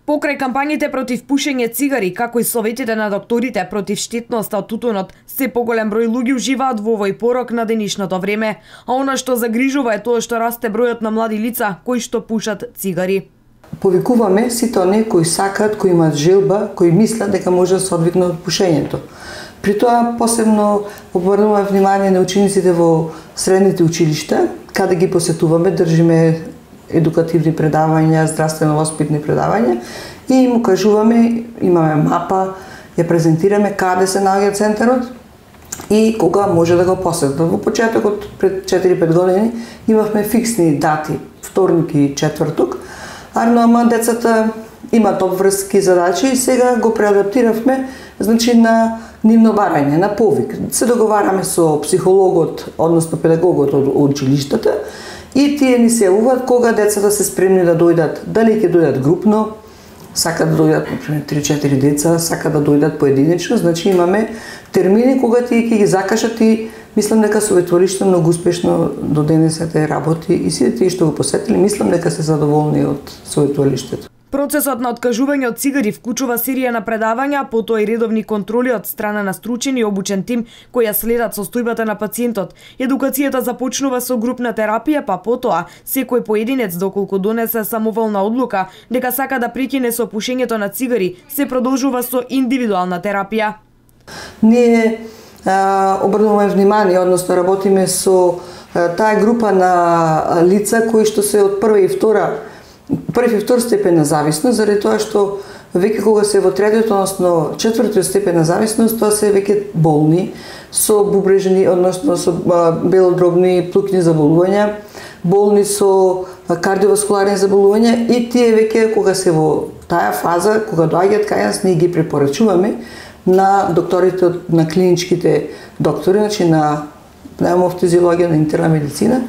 Покрај кампањите против пушење цигари, како и советите на докторите против штетноста од тутунот, се поголем број луѓе уживаат во овој порок на денешното време, а она што загрижува е тоа што расте бројот на млади лица кои што пушат цигари. Повикуваме сите оние кои сакаат, кои имаат желба, кои мислат дека може да се одвикнат од пушењето. При тоа посебно обрнуваме внимание на учениците во средните училишта, каде ги посетуваме, држиме едукативни предавања, здравствено-воспитни предавања и му кажуваме, имаме мапа, ја презентираме каде се наоѓа центарот и кога може да го посетат. Во почетокот пред 4-5 години имавме фиксни дати, вторник и четврток, ама децата имаат обврски задачи и сега го преадаптиравме, значи на нивно барање, на повик. Се договараме со психологот, односно педагогот од училиштата и тие ни се јавуваат кога децата се спремни да дојдат, дали ќе дојдат групно, сакаат да дојдат, например, 3-4 деца, сакаат да дојдат поединечно, значи имаме термини кога тие ќе ги закажат и мислам дека советвалиште многу успешно до денесете работи и сите тие што го посетили, мислам дека се задоволни од советвалиштето. Процесот на откажување од цигари вклучува серија на предавања, потоа и редовни контроли од страна на стручен и обучен тим кои ја следат состојбата на пациентот. Едукацијата започнува со групна терапија, па потоа секој поединец доколку донесе самоволна одлука дека сака да прекине со пушењето на цигари, се продолжува со индивидуална терапија. Ние обрнуваме внимание, односно работиме со таа група на лица кои што се од први и втор степен на зависност, заради тоа што веќе кога се во третиот, односно четвртиот степен на зависност, тоа се веќе болни со бубрежни, односно со белодробни плукни заболувања, болни со кардиоваскуларни заболувања и тие веќе кога се во таа фаза, кога доаѓаат кај нас, ние ги препорачуваме на докторите, на клиничките доктори, значи на пневмофтизиологија, на интерна медицина.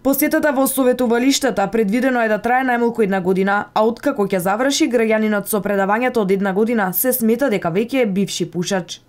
Посетата во советувалиштата предвидено е да трае најмалку 1 година, а откако ќе заврши, граѓанинот со предавањето од 1 година се смета дека веќе е бивши пушач.